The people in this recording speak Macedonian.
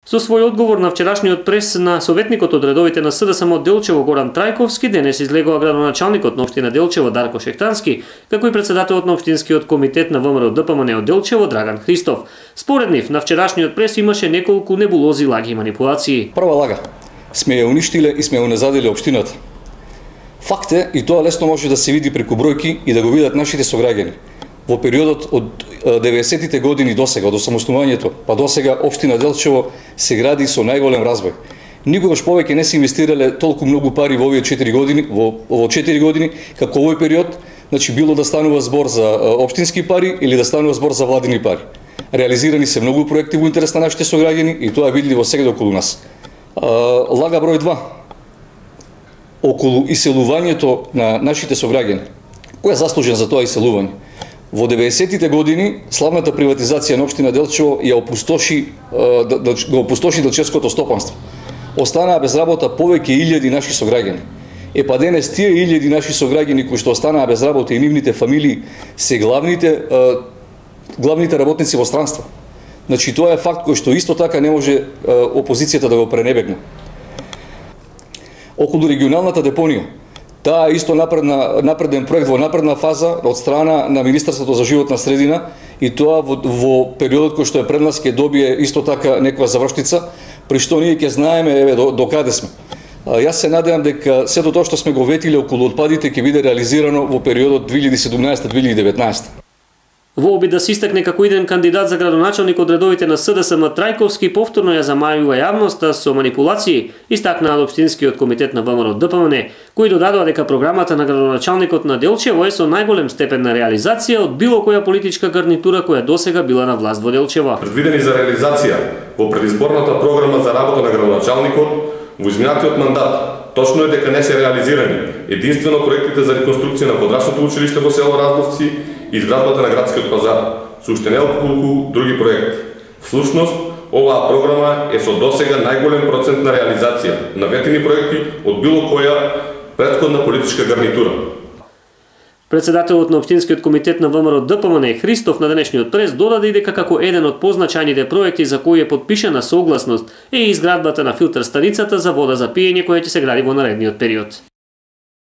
Со свој одговор на вчерашниот прес на советникот од редовите на СДСМ Делчево Горан Трајковски, денес излегува градоначалникот на општина Делчево Дарко Шехтански, како и председателот на општинскиот комитет на ВМРО ДПМН од Делчево Драган Христов. Според нив, на вчерашниот прес имаше неколку небулози, лаги и манипулации. Прва лага. Сме ја уништиле и сме ја уназадиле општината. Факт е, и тоа лесно може да се види преку бројки и да го видат нашите сограѓани. Во периодот од 90-тите години до сега, од осамоснувањето, па до сега општина Делчево се гради со најголем развој. Никогаш повеќе не се инвестирале толку многу пари во овие 4 години, во 4 години, како овој период, значи било да станува збор за општински пари или да станува збор за владини пари. Реализирани се многу проекти во интерес на нашите сограѓани и тоа е видливо сега околу нас. Лага број 2. Околу иселувањето на нашите сограѓани. Кој е заслужен за тоа иселување? Во 90-тите години славната приватизација на општина Делчево ја го опустоши делчевското стопанство. Останаа без работа повеќе илјади наши сограѓани. Па денес тие илјади наши сограѓани кои што останаа без работа и нивните фамилии се главните работници во странство. Значи тоа е факт кој што исто така не може опозицијата да го пренебрегне. Околу регионалната депонија. Таа е исто напреден проект во напредна фаза од страна на Министерството за животна средина и тоа во периодот кој што е пред нас ќе добие исто така некоја завршница, при што ние ќе знаеме до каде сме. Јас се надевам дека сето тоа што сме го ветиле околу отпадите ќе биде реализирано во периодот 2017-2019. Во обид да се истакне како иден кандидат за градоначалник од редовите на СДСМ Трајковски повторно ја замајува јавноста со манипулации, истакнаа општинскиот комитет на ВМРО ДПМН, кои додадува дека програмата на градоначалникот на Делчево е со најголем степен на реализација од било која политичка гарнитура која досега била на власт во Делчево. Предвидени за реализација во предизборната програма за работа на градоначалникот во изминатиот мандат точно е дека не се реализирани единствено проектите за реконструкција на подрачното училиште во село Раздовци и изградбата на градскиот пазар, со уште неколку други проекти. Всушност, оваа програма е со досега најголем процент на реализација на ветени проекти од било која претходна политичка гарнитура. Председателот на општинскиот комитет на ВМРО ДПМН Христов на денешниот прес додаде и дека како еден од позначајните проекти за кои е подпишана согласност е изградбата на филтер станицата за вода за пиење која ќе се гради во наредниот период.